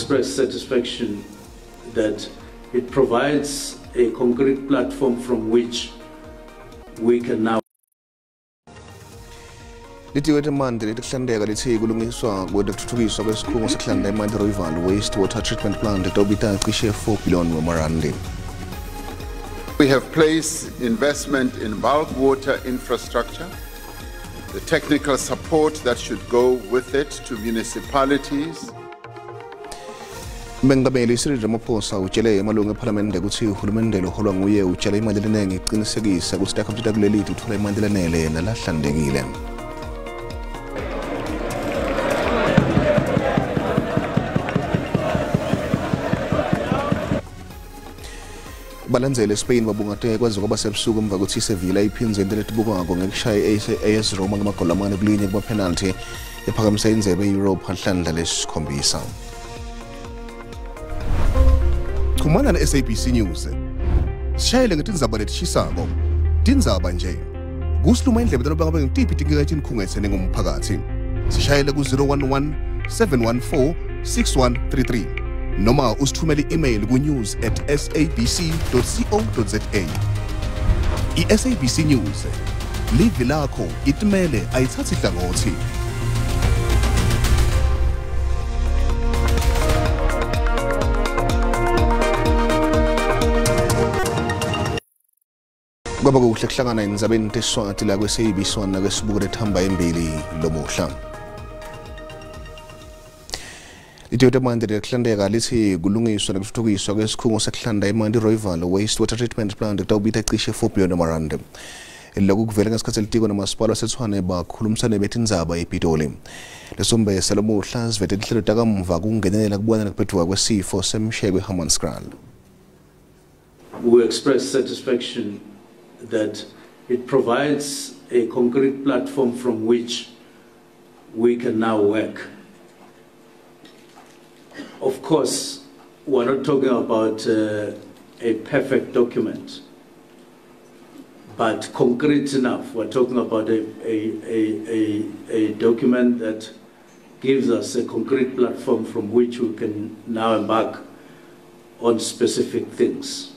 express satisfaction that it provides a concrete platform from which we can now. Litiko letemanti letekuhlanteka litsi kulungiswa kwetfutfukiswa kwesikhungo sekuhlanta emanti Rooiwal Waste Water Treatment Plant letawubita cishe 4 billion wemarandi. We have placed investment in bulk water infrastructure, the technical support that should go with it to municipalities. Mengameli Cyril Ramaphosa utjele emalungu ephalamende kutsi uhulumende loholwa nguye utjale imali lenengi ekucinisekisa kutsi takhamuti takuleli titfola emanti lanele nalahlantekile. Balandzele Spain babungate kwaze kwaba sebusuku emva kwekutsi iSevilla iphindze into letibukako ngekushaya i-AS Roma ngemagoli 4-1 kuma-penalty ephakamisa indzebe e-Europe nhlandla lesikhombisa. Chumana na-SABC News. Sishayele ngetindzaba letishisako. Tindzaba nje. Kusiluma indlebe tanoba ngabe ngitiphi tinkinga letikhungetse nengumphakathi. Sishayele ku-011 714 6133. Noma usithumele i-email ku-news@sabc.co.za. I-SABC News. Livi lakho itimele ayithathi hlangothi. Kwaba kuhle kuhlangana endzabeni teSiswati la kwe-SABC 1 nakwesibuko lethamba embili lomuhla. Litiko letemanti lekuhlanteka litsi kulungiswa nekutfutfukiswa kwesikhungo sekuhlanta emanti Rooiwal Waste Water Treatment Plant kutawubita cishe 4 billion emarandi. Lokhu kuvele ngesikhatsi litiko namasipala waseTshwane bakhulumisane betindzaba ePitoli. Lesombe salomuhla sivete tinhlelo takamuva kungenelela kubona nekuphetfuka kwesifo semsheko eHammanskraal. We express satisfaction that it provides a concrete platform from which we can now work. Of course, we're not talking about a perfect document, but concrete enough. We're talking about a document that gives us a concrete platform from which we can now embark on specific things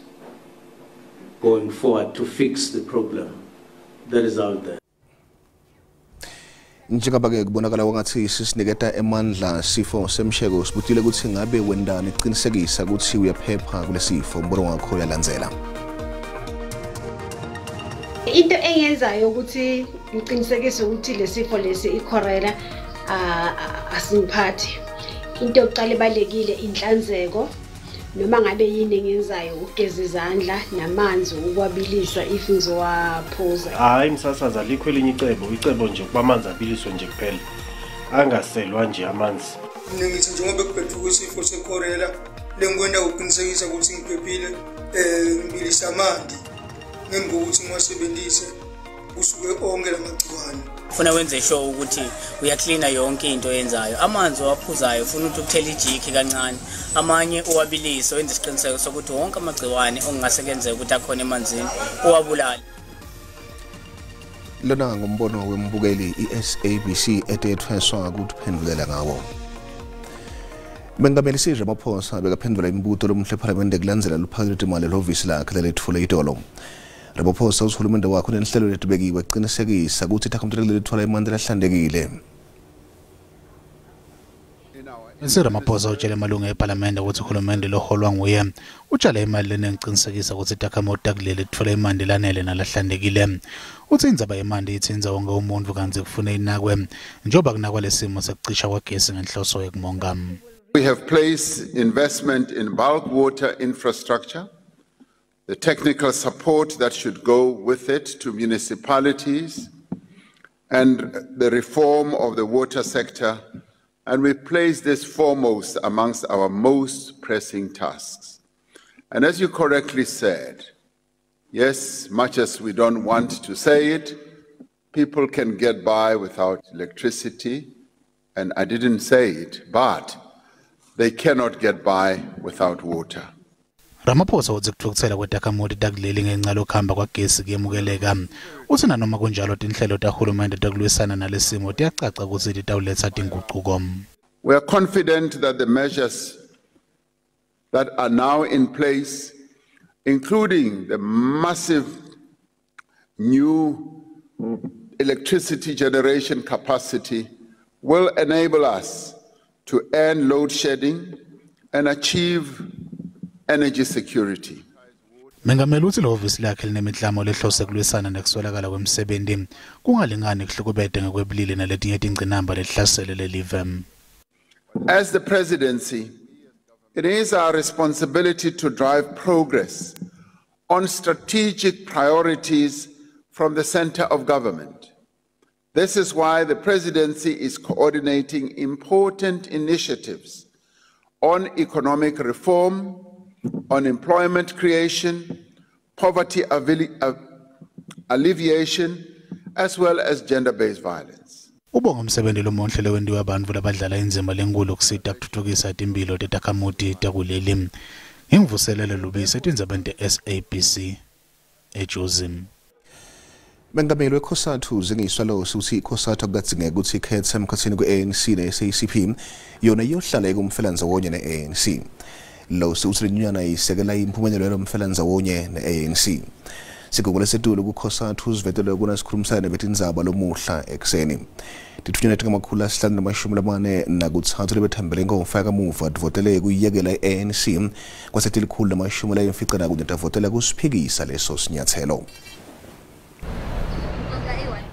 going forward to fix the problem that is out there. Njengoba-ke kubonakala kwangathi sisiniketa emandla sifo semsheko sibutile kutsi ngabe wendani kucinisekisa kutsi uyaphepha kulesifo. Umbono wakho uyalandzela. Into engiyenzayo ukuthi ngiqinisekise ukuthi lesifo lesi i-cholera asingiphathi. Into yokuqala ebalulekile inhlanzeko. Noma ngabe yini engiyenzayo ukugeza izandla namanzi ukwabilisa if ngizowaphuza. Hayi msasazi alikho elinye icebo, icebo nje kuba amanzi abiliswe nje kuphela. Angaselwa nje amanzi. Mina ngithi njengoba kubhedvuka isifo se-cholera lengikwenda ukuqinisekisa ukuthi ngiphephile, ngibilisa amanzi ngemva kokuthi ngiwasebenzise kusuke onke lamagciwane. Ufuna wenze sure ukuthi uyaklina yonke into oyenzayo. Amanzi owaphuzayo ufuna ukuthi uthele ijiki kancane, amanye uwabilise wenze isiqiniseko sokuthi wonke amagciwane okungase kenzeke ukuthi akhona emanzini uwabulale. Lona ngumbono wembukeli i-SABC etethweswa ukuphendulela ngawo. Mengameli Cyril Ramaphosa bekaphendula imibuto lomuhla ephalamende kulandzela luphako lwetimali lehhovisi lakhe leletfule itolo. Ramaphosa utsi hulumende wakhe unenhlelo letibekiwe kucinisekisa kutsi takhamuti letitfola emanti lahlantekile. Cyril Ramaphosa utjele emalungu ephalamende kutsi hulumende loholwa nguye utjale imali lenengi kucinisekisa kutsi takhamuti takuleli titfola emanti lanele nalahlantekile. Utsi indzaba yemanti itsintsa wonke umuntfu kantsi kufune inakwe njengoba kunakwa lesimo sekucisha kwagesi ngenhloso yekumonga. We have placed investment in bulk water infrastructure, the technical support that should go with it to municipalities, and the reform of the water sector, and we place this foremost amongst our most pressing tasks. And as you correctly said, yes, much as we don't want to say it, people can get by without electricity, and I didn't say it, but they cannot get by without water. Ramaphosa utsi kutfukutsela kwetakhamuti takuleli ngenca lokuhamba kwagesi kuyemukeleka. Utsi nanoma kunjalo tinhlelo tahulumende tekulwisana nalesimo tiyacaca kutsi titawuletsa tingucuko. We are confident that the measures that are now in place, including the massive new electricity generation capacity, will enable us to end load shedding and achieve energy security. Mengameli uthi lehhovisi lakhe linemiklamo lehlose kulwisana nekuswelakala kwemsebenti kungalingani kuhlukubete ngekwebulili naletinye tingcinamba lehlasele lelive. As the presidency, it is our responsibility to drive progress on strategic priorities from the center of government. This is why the presidency is coordinating important initiatives on economic reform, on employment creation, poverty alleviation, as well as gender-based violence. Ubonga umsebenzi lomuhle lowentiwa abantu labadlala indzima lenkulu kusita kutfutfukisa timphilo tetakhamuti takuleli. Ngimvuselele Lubisi etindzabeni te-SABC eJozi. Mengameli weCOSATU Zingiswa Losi uthi iCOSATU akukadzingeki ukuthi ikhethe emkhathini kwe-ANC ne-SACP, yona iyohlala kumfelanzawonye ne-ANC. Losi uthi lenyunyana isekela impumelelo yalomfelanzawonye ne-ANC. Sigungu lesetulu kuCOSATU sivetelwe kunasikhulumisana nebetindzaba lomuhla ekuseni. Tithunywa letingama-543 lebethambele inkomfa kamuva tivotele kuyiyekela i-ANC kwase tilikhulu tavotela kusiphikisa leso sinyathelo.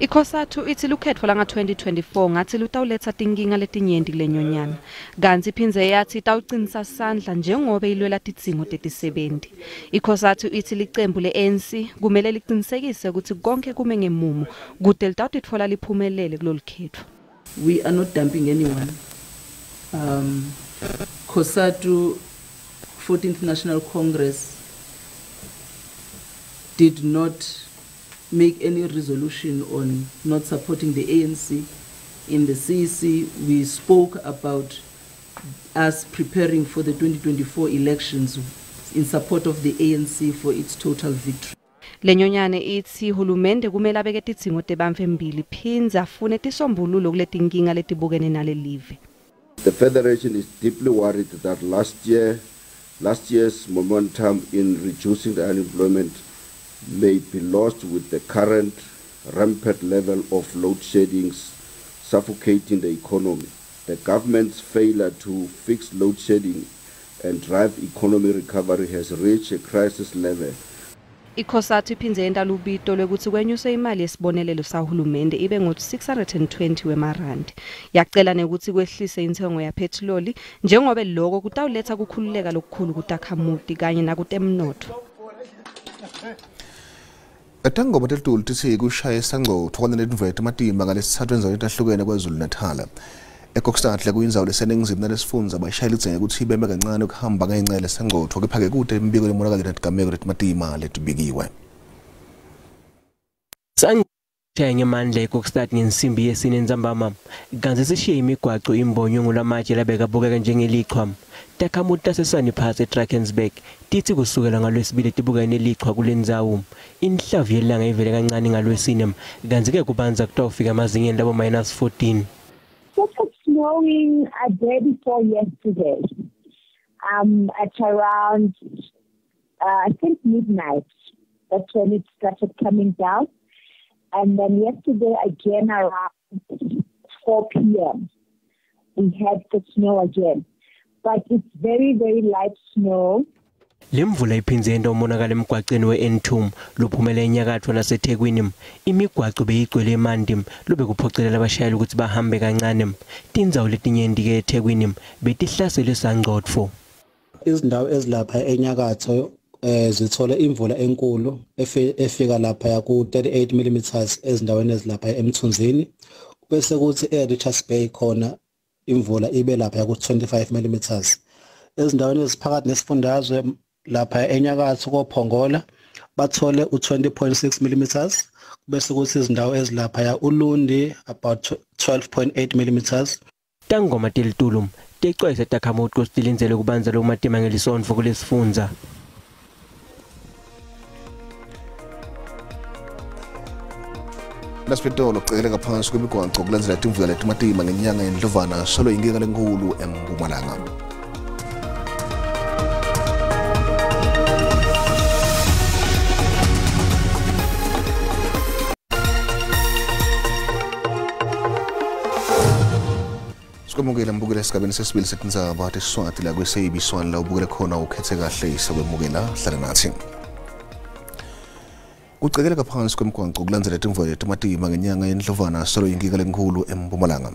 ICOSATU ithi lukhetfo langa-2024 ngathi lutawuletsa tinkinga letinyenti kulenyonyana kantsi iphindze yathi itawucinisa sandla njengobe ilwela tidzingo tetisebenti. ICOSATU ithi licembu le-ANC kumele licinisekise kutsi konkhe kume ngemumo kute litawutitfola liphumelele kulolu khetfo. We are not dumping anyone. COSATU 14th National Congress did not make any resolution on not supporting the ANC. In the CEC, we spoke about us preparing for the 2024 elections in support of the ANC for its total victory. Lenyonyane ithi hulumende kumele abeke tidzingo tebantfu embili phindze afune tisombululo kuletinkinga letibukene nalelive. The Federation is deeply worried that last year's momentum in reducing the unemployment may be lost with the current rampant level of load sheddings suffocating the economy. The government's failure to fix load shedding and drive economy recovery has reached a crisis level. ICOSATU iphindze yenta lubito lwekutsi kwenyuswe imali yesibonelelo sahulumende ibe ngo-620 wemarandi. Yacela nekutsi kwehlise intsengo yaphethiloli njengobe loko kutawuletsa kukhululeka lokukhulu kutakhamuti kanye nakutemnotfo. Tangoma telitulu titsi kushaya sangcotfo kanye netimvula tematimba ngalesitsatfu endzaweni letahlukene KwaZulu-Natal. eKokstad kuyindzawo leseningizimu nalesifundza bashayela lidzinga kutsi beme kancane ukuhamba ngenca yalesangcotfo kepha-ke kute imibiko lemonakalo netigameko letimatima letibikiwe. Shaya ngemandla eKokstad ngensimbi yesine entsambama kantsi sishiye imigwaco imbonywe ngulamatshe labekabukeka njengelichwa. Takhamuti tasesani phasi eDrakensberg titsi kusukela ngalwesibili tibukene nelichwa kulendzawo. Inhlavu yelanga ivele kancane ngalwesine kantsi-ke kubanza kutawufika emazingeni labo -14. Started snowing a day before yesterday, at around I think midnight. That's when it started coming down. And then yesterday again around 4 p.m. we had the snow again. But it's very, very light snow. Lemvula iphindze yenta umonakalo emgwaceni we-N2 lophumela enyakatfo naseThekwini. Imigwaco beyigcwele emanti lobekuphocelela abashayeli ukuthi bahambe kancane. Tindzawo letinyenti-ke eThekwini betihlaselwe sangcotfo. Izindawo ezilapha enyakatho zithole imvula enkulu efika lapha ku 38 mm ezindaweni ezilapha eMthunzini, bese kuthi eRichards Bay khona imvula ibe lapha ku 25 mm. Ezindaweni eziphakathi nesifundazwe lapha enyakatho koPhongola bathole u20.6 mm, bese kuthi izindawo ezilapha uLundi about 12.8 mm. Tangoma telitulu tecwayisa takhamuti kutsi tilindzele kubanza lokumatima ngelisontfo kulesifundza. Nasiphetolo kucekeleka phansi kwemigwaco kulandzela timvula letimatima ngenyanga yeNdlovana solo inkinga lenkhulu eMpumalanga. Siyakwemukela mbukela esigabeni sesibili setindzaba teSiswati la kweSABC1 la ubukele khona ukhethe kahle sakwemukela hlala nathi. Kucekeleka phansi kwemigwaqo kulandzela timvula letimatima ngenyanga yeNdlovana solo inkinga lenkhulu eMpumalanga.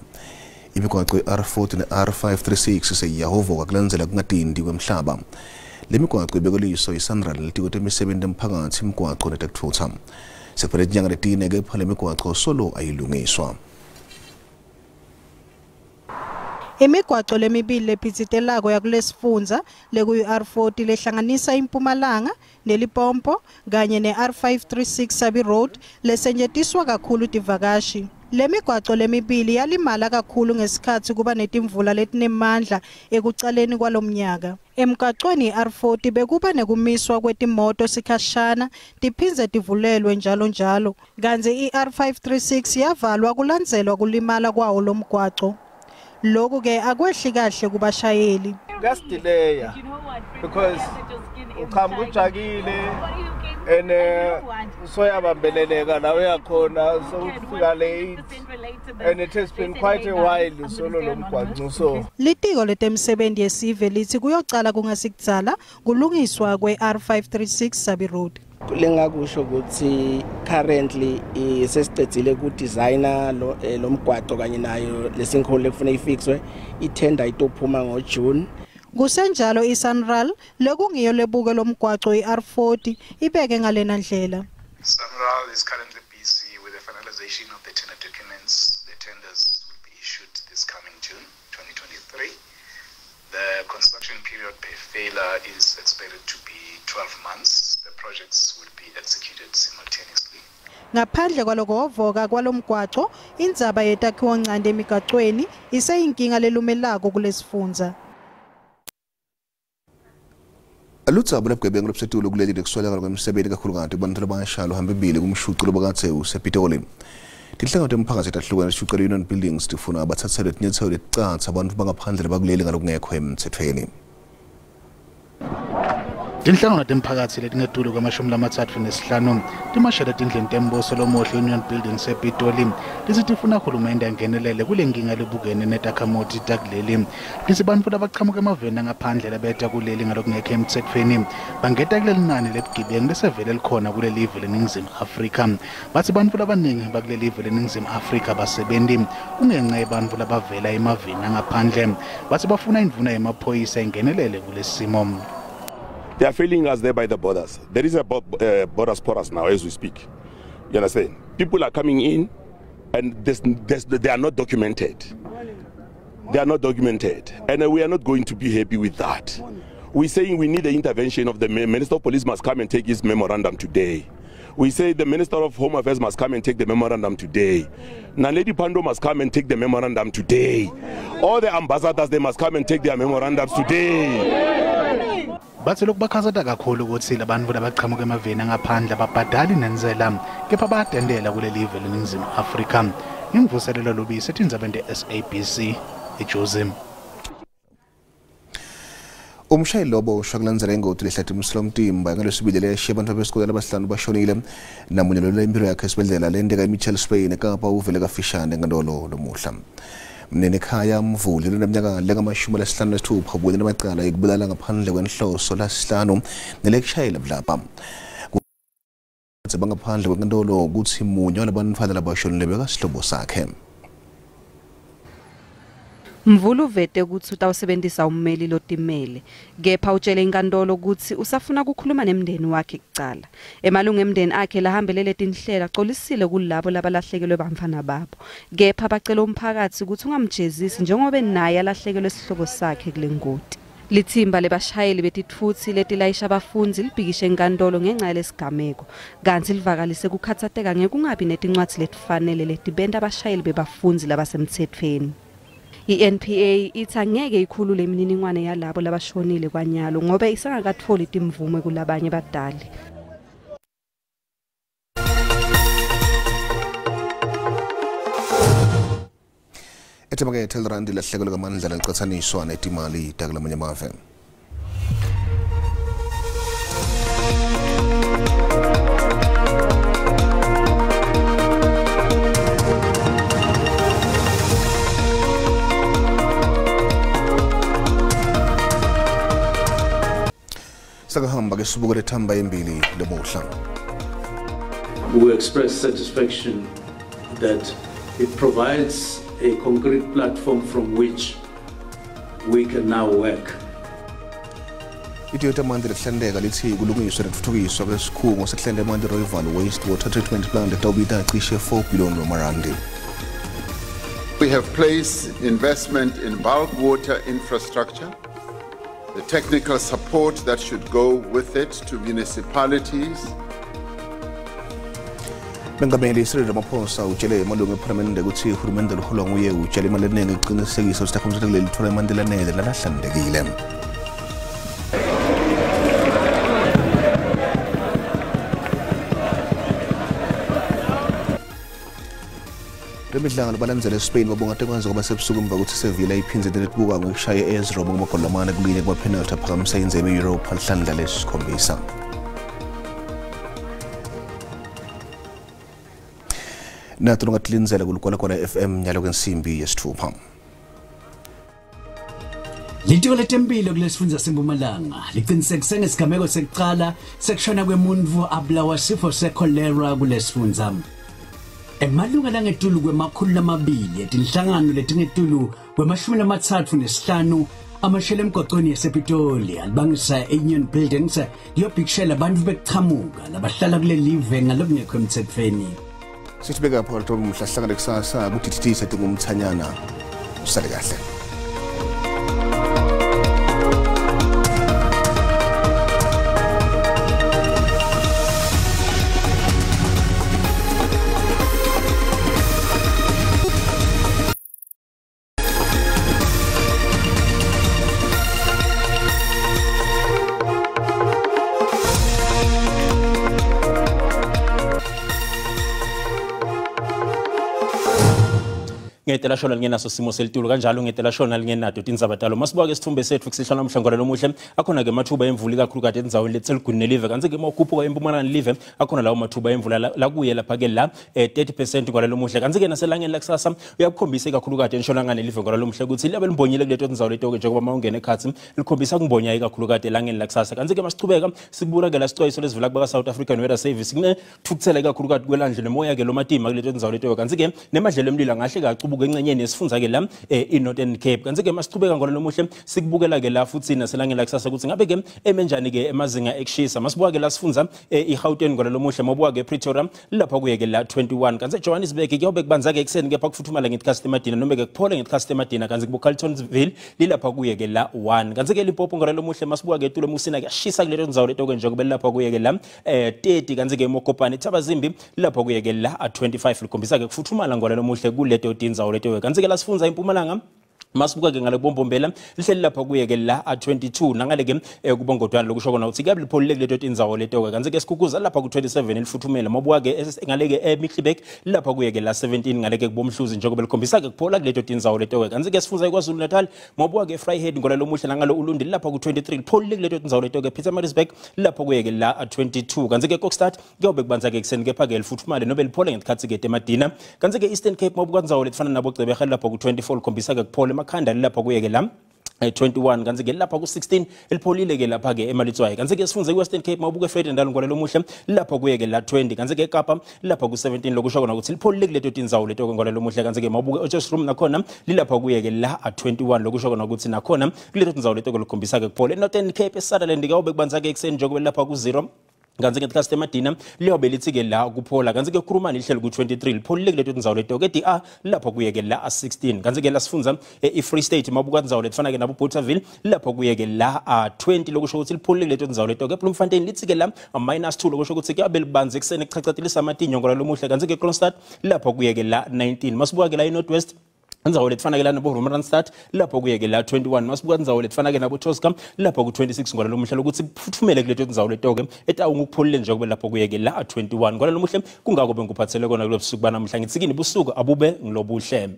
Imigwaqo i-R40 ne-R536 seyiyahovoka kulandzela kungatindi kwemhlaba. Le migwaqo ibekweliso iSANRAL litiko temisebenti emphakathi imigwaqo netekutfutsa. Sekuphele tinyanga letine kepha le migwaqo solo ayilungiswa. Imigwaco lemibili lephitsitelako yakulesifundza lekuyi-R40 lehlanganisa iMpumalanga neLimpopo kanye ne-R536 Sabi Road lesetjentiswa kakhulu tivakashi. Le migwaco lemibili yalimala kakhulu ngesikhatsi kuba netimvula letinemandla ekucaleni kwalomnyaka. Emgwacweni i-R40 bekuba nekumiswa kwetimoto sikhashana tiphindze tivulelwe njalo njalo, kantsi i-R536 yavalwa kulandzelwa kulimala kwawo lomgwaco. Lokhu ke akwehli kahle kubashayeli. Kuyasidileya because uqhamuka ujakile and soyabambeleleka la uyakhona sewufika late and it has been quite a while solo lo mgwaqo so. Litiko letemisebenti yesive lithi kuyocala kungasikudzala kulungiswa kwe-R536 Sabi Road. Lengakusho ukuthi currently sesicedzile ku designer lo mgwaqo kanye nayo lesinkholo lekufuna ifixwe ithenda itophuma ngo June. Kusenjalo iSANRAL lekungiyo lebuke lomgwaqo iR40 ibeke ngalena ndlela. SANRAL is currently busy with the finalization of the tender documents. The tenders will be issued this coming June 2023. The construction period per failure is expected to be 12 months. The projects will be executed simultaneously. Ngaphandle kwalokuhovoka kwalomgwaco, indzaba yetakhiwo ncane emigwacweni iseyinkinga lelumelako kulesifundza. Ludzaba lwebugebengu lobusetulu kuleli lekuswelakala kwemsebenti kakhulukati kubantfu labasha luhambe embili kumshuco lobakadze usePitoli. Tinhlangano temphakatsi letahlukene tishucela Union Buildings tifuna batsatselwe tinyatselo leticatsa bantfu bangaphandle bakuleli ngalokungekho emtsetfweni. Tinhlangano temphakatsi letingetulu kwama-35 timashele tindlini tembuso lomuhle Union Buildings ePitoli litsi tifuna hulumende angenelele kule nkinga lebukene netakhamuti takuleli. Litsi bantfu labachamuka emaveni angaphandle labeta kuleli ngalokungekho emtsetfweni bangeta kuleli nani lebugebengu lesevele likhona kuleli live leNingizimu Afrika. Batsi bantfu labaningi bakuleli live leNingizimu Afrika basebenti kungenca yebantfu labavela emaveni angaphandle. Batsi bafuna indvuna yemaphoyisa ingenelele kulesimo. They are failing us there by the borders. There is a borders porous now as we speak. You understand? People are coming in and they are not documented. They are not documented. And we are not going to be happy with that. We're saying we need the intervention of the Minister of Police must come and take his memorandum today. We say the Minister of Home Affairs must come and take the memorandum today. Naledi Pandor must come and take the memorandum today. All the ambassadors, they must come and take their memorandums today. Batsi lokubakhatsata kakhulu kutsi labantfu labaqhamuka emaveni angaphandle ababhadali nentsela kepha bayatentela kuleli live leNingizimu Afrika. Imvuselelo Lubisi etindzabeni te-SABC eJozi. Umshayeli loboshwa kulandzela ingoti lehlate umsilomtimba ngalwesibili leyashiya bantfu besikole labahlanu bashonile namunye lolwela impilo yakhe esibhedlela lenteka eMitchells Plain eKapa uvele kafishane enkantolo lomuhla. Mnenikhaya Mvuli loneminyaka lengama-56 ubukene namacala ekubulala ngaphandle kwenhloso lasihlanu nelekushayela budlabha. Bangaphandle kwenkantolo kutsi munye walabantfwana labashonile bekasihlobo sakhe. Mvulu uvete kutsi utawusebentisa ummeli lotimele kepha utshele inkantolo kutsi usafuna kukhuluma nemndeni wakhe kucala. Emalungu emndeni akhe lahambelele tinhlela acolisile kulabo labalahlekelwe bantfwana babo kepha bacela umphakatsi kutsi ungamjezisi njengobe naye alahlekelwe sihlobo sakhe kule ngoti. Lithimba lebashayeli betitfutsi letilayisha bafundzi libhikishe enkantolo ngenca yalesigameko kantsi livakalise kukhatsateka ngekungabi netincwadzi letifanele letibenta abashayeli bebafundzi labasemtsetfweni. I-NPA ithi angeke ikhulule imininingwane yalabo labashonile kwanyalo ngobe isengakatfoli timvume kulabanye badali. Etemakethe lirandi lahlekelwe ngamandla licatsaniswa netimali takulamanye amave. Ake sibuke lethamba embili lomuhla. We express satisfaction that it provides a concrete platform from which we can now work. Litiko letemanti lekuhlanteka litsi kulungiswa nekutfutfukiswa kwesikhungo sekuhlanta emanti Rooiwal Waste Water Treatment Plant letawubita cishe 4 billion wemarandi. We have placed investment in bulk water infrastructure, the technical support that should go with it to municipalities. Mengameli Cyril Ramaphosa utjele emalungu ephalamende kutsi uhulumende loholwa nguye utjele imali lenengi ekuqinisekisa kutsi takhamuti takuleli litfola emanti lanele nalahlantekile. Lemidlalo balandzela eSpain babonga kwanza kwaba sebusuku emva kutsi Sevilla iphindze letibuka ngekushaya AS Roma ngamagoli lamane kulinye kuma-penalty aphakamisa indzebe ye-Europa lihlandla lesikhombisa. Nato longatilindzela kuLigwalagwala FM nyalo kwensimbi yesitfupha. Litiko letemphilo kulesifundza seMpumalanga liqinisekise ngesigameko sekucala sekushona kwemuntfu abulawa sifo sekholera kulesifundza. Emalunga langetulu kwema-200 etinhlangano letingetulu kwema-35 amashele emgwacweni yasePitoli alibangisa e-Union Buildings liyobhikishela bantfu bekuchamuka labahlala kulelive ngalokungekho emtsetfweni. Sithibeka phakathi komhlahlangane kusasa kudididisa tingumthanyana usale kahle. Ngetela shona lingenaso simo selitulu kanjalo ngetela shona lingenato tindzaba talo masibuka ke sithombe sethu kusihlala namhla ngolalomuhle akhona ke mathuba emvula ikakhulukati endzaweni letseligwini nelive kantsi ke mawukhuphuka empumalanga live akhona lawo mathuba emvula lakuye lapha ke la 30% ngolalomuhle kantsi ke naselangeni lakusasa uyakukhombisa ikakhulukati entshonalanga nelive ngolalomuhle kutsi liyabe limbonyile kuleto tindzawo leto ke njengoba mawungena ekhatsi likhombisa kumbonya ikakhulukati elangeni lakusasa kantsi ke masichubeka sikubuka ke la sicwayiso lesivela kubaka South African Weather Service kunethukuthela ikakhulukati kwelandle nomoya ke lomatima kuleto tindzawo leto kantsi ke nemadlelo emlilo angahle kacubuka encenyeni yesifundza ke la i-Northern Cape kantsi ke masichubeka ngolalomuhle sikubukela ke la futhi naselangeni lakusasa kutsi ngabe ke emenjani ke emazinga ekushisa masibuka ke la sifundza i-Gauteng ngolalomuhle mawubuka ke Pretoria lapha kuye ke la 21 kantsi Johannesburg kuyobe kubanza ke ekuseni kepha kufuthumala ngetikhathi emadina noma ke kuphole ngetikhathi emadina kantsi kubo Carltonville lilapha kuye ke la 1 kantsi ke Limpopo ngolalomuhle masibuka ke tulo musina kuyashisa kuleto ndzawo leto ke njengoba lapha kuye ke la 30 kantsi ke Mokopane Thabazimbi lapha kuye ke la 25 likhombisa ke kufuthumala ngolalomuhle kuleto tindzawo leto kantsi ke la sifundza impumalanga masibuka ke ngale kubombombela lihleli lapha kuye ke la 22 nangale ke kubongodwana lokusho kona ukuthi kuyabe lipholile kuleto tindzawo leto ke kantsi ke Sikhukhuza lapha ku27 lifuthumele mabuka ke ngale ke eMiddelburg lapha kuye ke la 17 ngale ke kubomhluzi njengoba likhombisa ke kuphola kuleto tindzawo leto ke kantsi ke sifundza iKwaZulu Natal mabuka ke Vryheid ngolalomuhle nangalo Ulundi lapha ku23 lipholile kuleto tindzawo leto ke Pietermaritzburg lapha kuye ke la 22 kantsi ke Kokstad kuyobe kubanza ke ekuseni kepha ke lifuthumale nobe liphole ngesikhatsi ke emadina kantsi ke Eastern Cape mabuka ndzawo letifana nabo Gqeberha lapha ku24 likhombisa ke kuphola emakhanda lapha kuye ke la 21 kantsi ke lapha ku16 elipholile ke lapha ke emalitswayi kantsi ke sifunze iWestern Cape mawubuke Vredendal ngolalomuhle lapha kuye ke la 20 kantsi ke eKapa lapha ku17 lokusho kona ukuthi lipholile kuleto tindzawo leto ke ngolalomuhle kantsi ke mawubuke Potchefstroom nakhona lilapha kuye ke la 21 lokusho kona ukuthi nakhona kuleto tindzawo leto ke likhombisa ke kuphola eNorthern Cape eSutherland ke awube kubanza ke ekuseni njengoba lapha ku0 kantsi ke ngesikhathi emadina liyobe lithi ke la kuphola kantsi ke Kurumani lihleli ku23 lipholile kuleto tindzawo leto ke DR lapho kuye ke la 16 kantsi ke la sifundza i-Free State mabuka tindzawo letifana ke nabo Bothaville lapho kuye ke la 20 lokusho ukuthi lipholile kuleto tindzawo leto ke Bloemfontein lithi ke la -2 lokusho ukuthi kuyabe libanzi ekuseni kuchachatilisa amatinyo ngolalomuhle kantsi ke Kroonstad lapho kuye ke la 19 masibuka ke la i-North West indzawo letifana ke la nabo Randstad lapho kuye ke la 21 masibuka indzawo letifana ke nabo Tosca lapho ku26 ngolalomuhle lokuthi kufuthumele kuleto tindzawo leto ke etawungu kupholile nje kube lapho kuye ke la 21 ngolalomuhle kungako bengikuphathele kona kulobusuku banamhla ngitsi kini busuku abube ngilobuhle.